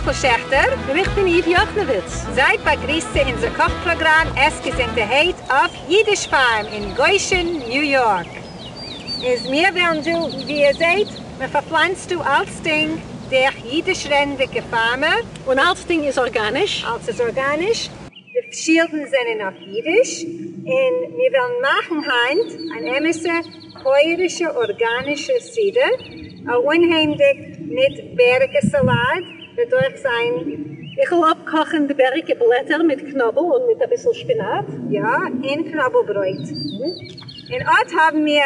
רחל שעכטער. און איך בין איוו יאכנעוויץ. זייט באגריסט צו אונזער קאך פראגראם עס געזונטערהייט אויף אידיש פארם אין גושן ניו יארק. איז מיר וועלן דא, ווי איר זעהט, מען פארפלאנצט דא אלצדינג דורך אידיש רעדנדיגע פארמער. און אלצדינג איז ארגאניש. אלץ איז ארגאניש. די שילדן זענען אויף אידיש, און מיר וועלן מאכן היינט אן אמת'ע פויערישע ארגאנישע סעודה, אנהייבנדיג מיט בעריקע סאלאד וועט אויך זיין. איך וועל אפקאכן די בעריקע בלעטער מיט קנאבל און מיט אביסל שפינאט. יא, און קנאבל ברויט. און אט האבן מיר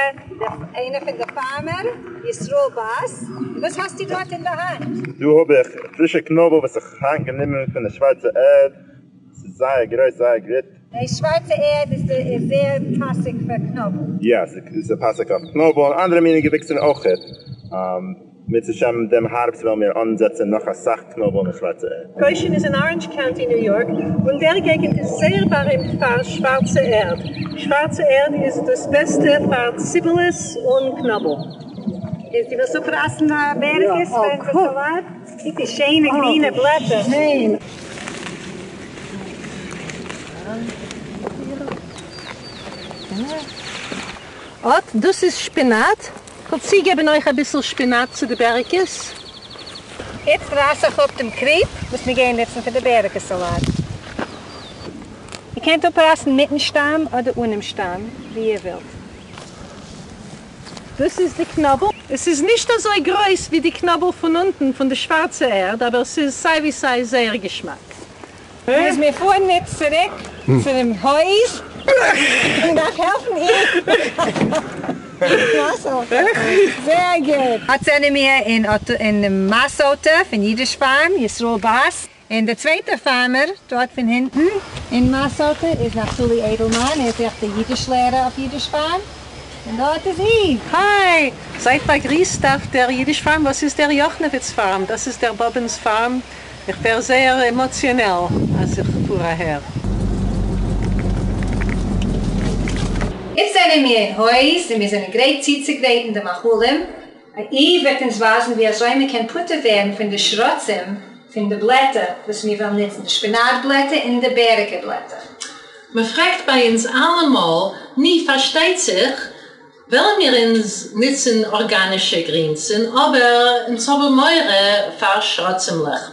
איינער פון די פארמער, ישראל באס. וואס האסטו דארט אין די האנט? דא האב איך פרישע קנאבל וואס איך היינט גענומען פון די שווארצע ערד. ס'איז זייער גרויס זייער גוט. די שווארצע ערד איז זייער פאסיג פאר קנאבל. יא, ס'איז פאסיג אויף קנאבל און אנדערע מיני געוויקסן אויכעט. אם ירצה השם דעם הארבסט וועלן מיר אנזעצן נאך אסאך קנאבל אין די שווארצע ערד. גושן איז אין אראנדזש קאונטי ניו יארק, און דער געגנט איז זייער בארימט פאר שווארצע ערד. שווארצע ערד איז דאס בעסטע פאר ציבעלעס און קנאבל. איז דו ווילסט אפרייסן בעריקעס פאר אונזער סאלאד? קוק די שיינע גרינע בלעטער. אט דאס איז שפינאט. כ'וועל צוגעבן אויך אביסל שפינאט צו די בעריקעס. איצט רייס איך אפ דעם קריפ וואס מיר גייען נוצן פאר די בעריקע סאלאט. איר קענט אפרייסן מיטן שטאם אדער אנעם שטאם, ווי איר ווילט. דאס איז די קנאבל. עס איז נישט אזוי גרויס ווי די קנאבל פון אונטן פון די שווארצע ערד, אבער ס'איז סיי ווי סיי זייער געשמאק. איז מיר פארן איצט צוריק צו דעם הויז און דארף העלפן איר. זייער גוט. אט זענען מיר אין מאסויטע פון אידיש פארם, ישראל באס. און דער צווייטער פארמער דארט פון הינטן אין מאסויטע איז נפתלי איידלמאן, ער איז אויך דער אידיש לערער אויף אידיש פארם. און דארט איז אי. היי! זייט באגריסט אויף דער אידיש פארם, וואס איז דער יאכנעוויץ פארם? דאס איז דער באבענס פארם. איך ווער זייער עמאציאנעל אז איך פאר אהער. איצט זענען מיר אין הויז און מיר זענען גרייט צוצוגרייטן די מאכלים. אי וועט אונז ווייזן ווי אזוי מען קען פטור ווערן פון די שרצים פון די בלעטער וואס מיר וועלן נוצן, די שפינאט בלעטער און די בעריקע בלעטער. מען פרעגט ביי אונז אלעמאל, ני פארשטייט זיך וועלן מיר אונז נוצן ארגאנישע גרינסן, אבער אונז האבן מורא פאר שרצימלעך.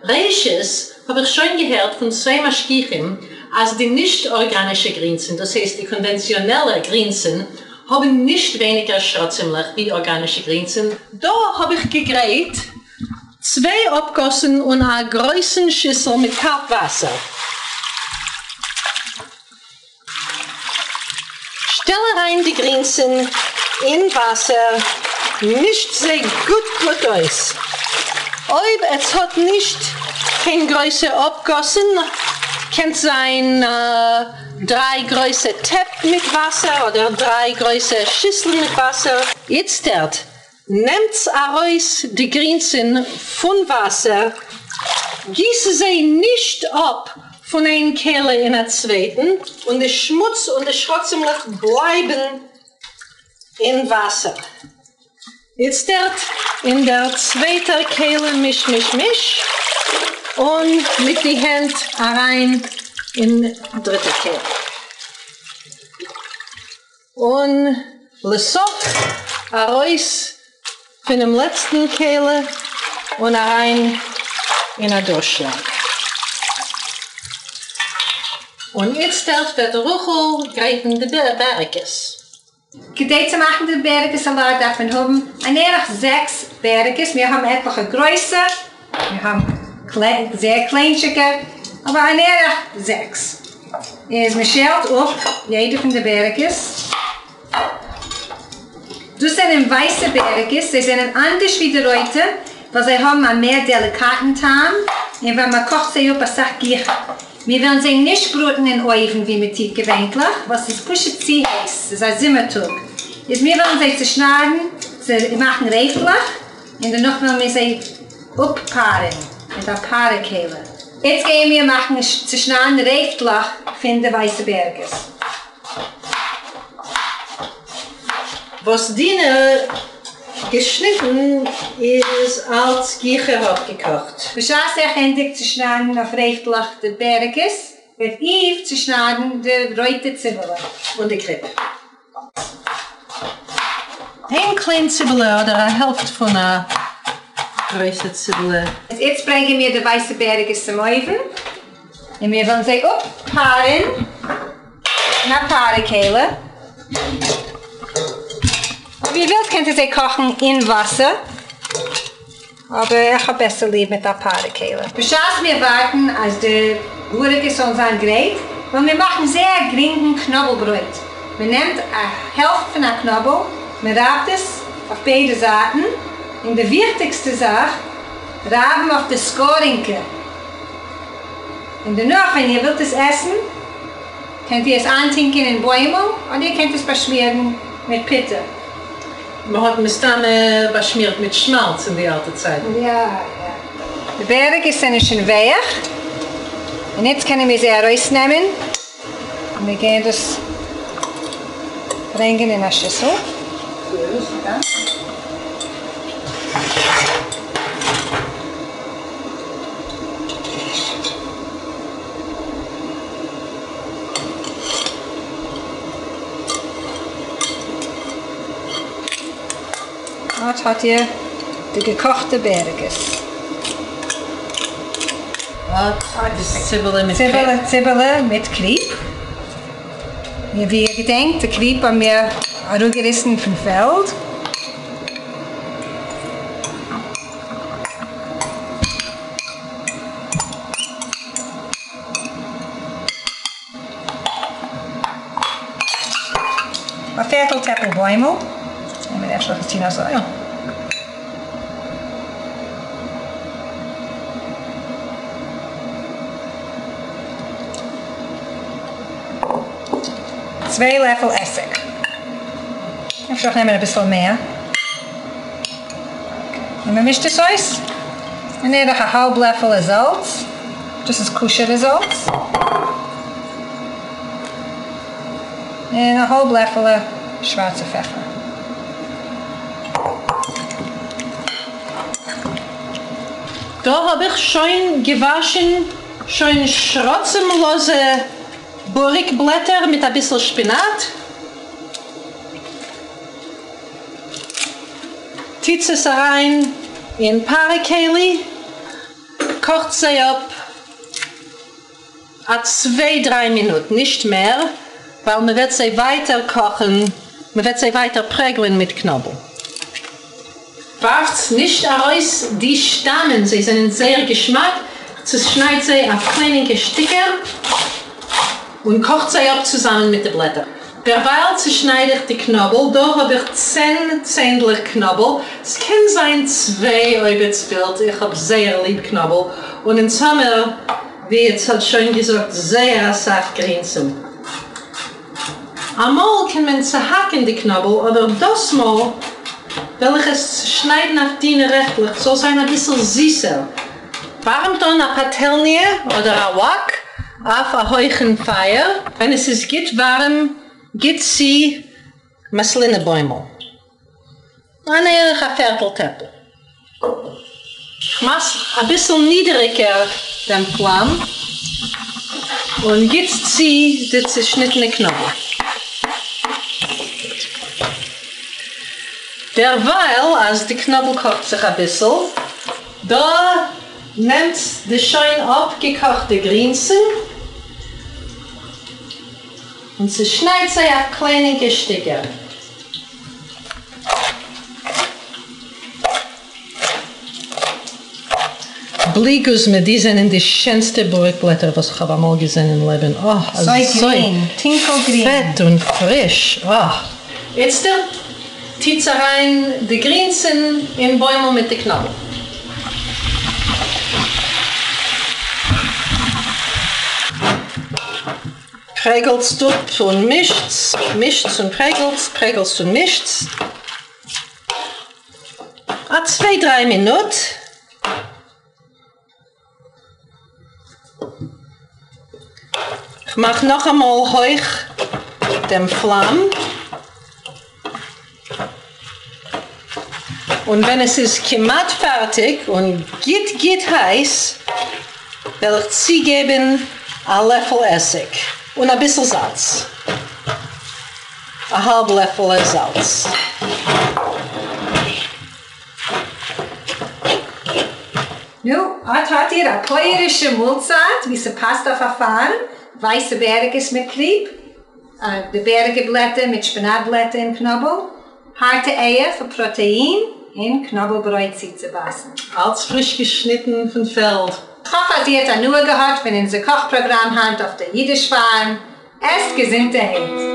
ראשית האב איך שוין געהערט פון צוויי משגיחים אז די נישט ארגאנישע גרינסן, דאס הייסט די קאנווענציאנעלע גרינסן, האבן נישט ווייניגער שרצימלעך ווי ארגאנישע גרינסן. דא האב איך געגרייט צוויי אפגאסן און א גרויסן שיסל מיט קאלט וואסער. שטעל אריין די גרינסן אין וואסער, מישט זיי גוט גוט אויס. אויב עטס האט נישט קיין גרויסע אפגאסן, קענט זיין דריי גרויסע טעפ מיט וואסער אדער דריי גרויסע שיסלן מיט וואסער. איצטערט נעמטס ארויס די גרינסן פון וואסער, גיסט זיי נישט אפ פון איין כלי אין א צווייטן, און די שמוץ און די שרצימלעך בלייבן אין וואסער. איצטערט אין דער צווייטער כלי מיש מיש מיש, און מיט די הענט אריין אין דריטע כלי. און לסוף ארויס פונעם לעצטן כלי און אריין אין א דורשלאג. און איצטערט וועט רחל גרייטן די בעריקעס. כדי צו מאכן די בעריקע סאלאט דארף מען האבן אן ערך זעקס בעריקעס, מיר האבן עטליכע גרויסע, מיר האבן זייער קליינטשיקע, אבער אן ערך זעקס. איז מען שעלט אפ יעדע פון די בעריקעס. דאס זענען ווייסע בעריקעס, זיי זענען אנדערש ווי די רויטע, ווייל זיי האבן א מער דעליקאטן טעם, און ווייל מען קאכט זיי אפ אסאך גיכער. מיר וועלן זיי נישט בראטן אין אויוון ווי מען טוט געווענטליך, ווייל ס'איז פשוט צו הייס, ס'איז א זומער טאג. איז מיר וועלן זיי צושניידן, צו מאכן רעפלעך, און דערנאך וועלן מיר זיי אפפארען מיט א פארע כלי. איצט גייען מיר מאכן צושניידן רעפטלעך פון די ווייסע בעריקעס. וואס דינה געשניטן איז אלץ גיכער אפגעקאכט. בשעת איך ענדיג צו שניידן אויף רעפטלעך די בערעקעס, וועט איוו צושניידן די רויטע ציבעלע. און די קריפ. איין קליין ציבעלע אדער א העלפט פון א גרויסע ציבעלע. איצט ברענגען מיר די ווייסע בערעקעס צום אויוון, און מיר וועלן זיי אפפארען אין א פארע-כלי. אויב איר ווילט קענט איר זיי קאכן אין וואסער, אבער איך האב בעסער ליב מיט א פארע-כלי. בשעת מיר ווארטן אז די בוריקעס זאלן זיין גרייט, וועלן מיר מאכן זייער א גרינגן קנאבל ברויט. מען נעמט א העלפט פון א קנאבל, מען רייבט עס אויף ביידע זייטן, און די וויכטיגסטע זאך, רייבן אויף די סקארינקע. און דערנאך ווען איר ווילט עס עסן, קענט איר עס איינטונקען אין בוימל, אדער איר קענט עס באשמירן מיט פוטער. מען האט מסתמא באשמירט מיט שמאלץ אין די אלטע צייטן. יא יא. די בערעקעס זענען שוין ווייך, און איצט קענען מיר זיי ארויסנעמען, און מיר גייען דאס ברענגען אין א שיסל. אט האט איר די געקאכטע בערעקעס. אט איז ציבעלע מיט קריפ. ציבעלע מיט קריפ. און ווי איר געדענקט, די קריפ האבן מיר אראפגעריסן פון פעלד. א פערטל טעפל בוימל, און מען אפשר עס טון אזוי. צוויי לעפל עסיג. אפשר אויך נעמען אביסל מער. און מען מישט עס אויס. און בערך א האלב לעפעלע זאלץ. דאס איז כשר'ע זאלץ. און א האלב לעפעלע שווארצע פעפער. דא האב איך שוין געוואשן שוין שרצים'לאזע בוריק בלעטער מיט אביסל שפינאט. טוטס עס אריין אין פארע כלי. קאכט זיי אפ א צוויי דריי מינוט, נישט מער, ווייל מען וועט זיי ווייטער קאכן, מען וועט זיי ווייטער פרעגלען מיט קנאבל. ווארפטס נישט ארויס די שטאמען, זיי זענען זייער געשמאק, צושניידט זיי אויף קליינינקע שטיקער און קאכט זיי אפ צוזאמען מיט די בלעטער. דערווייל צושנייד איך די קנאבל, דא האב איך צען צענדליך קנאבל, ס'קען זיין צוויי אויב עטס ווילט, איך האב זייער ליב קנאבל, און אין זומער ווי עטס האט שוין געזאגט זייער אסאך גרינסן. אמאל קען מען צוהאקן די קנאבל אבער דאס מאל וועל איך עס צושניידן אויף דינע רעפטלעך ס'זאל זיין אביסל זיסער. ווארעמט אן א פאטעלניע אדער א וואק אויף א הויכן פייער, ווען עס איז גוט ווארעם גיט צו מאסלינע בוימל, אן ערך א פערטל טעפל. כ'מאך אביסל נידעריגער דעם פלאם און גיט צו די צושניטענע קנאבל. דערווייל אז די קנאבל קאכט זיך אביסל, דא נעמט די שוין אפגעקאכטע גרינסן און צושניידט זיי אויף קליינינקע שטיקער. בלי גוזמא, די זענען די שענסטע בוריק בלעטער וואס כ'האב אמאל געזען אין לעבן, אה, אזוי גרין, טונקל גרין. פעט און פריש, אה. איצטערט טוטס אריין די גרינסן אין בוימל מיט די קנאבל. פרעגלטס אפ און מישטס, מישטס און פרעגלטס, פרעגלטס און מישטס. א צוויי דריי מינוט. כ'מאך נאכאמאל הויך דעם פלאם. און ווען עס איז כמעט פארטיג און גוט גוט הייס, וועל איך צוגעבן א לעפל עסיג און אביסל זאלץ, א האלב לעפעלע זאלץ. נו, אט האט איר א פויערישע מאלצייט ווי ס'פאסט אויף א פארם, ווייסע בערעקעס מיט קריפ, די בעריגע בלעטער מיט שפינאט בלעטער און קנאבל, הארטע אייער פאר פראטעין, און קנאבל ברויט צוצובייסן. אלץ פריש געשניטן פון פעלד. כ'האף אז איר האט הנאה געהאט פון אונזער קאך פראגראם היינט אויף דער אידיש פארם. עסט געזונטערהייט!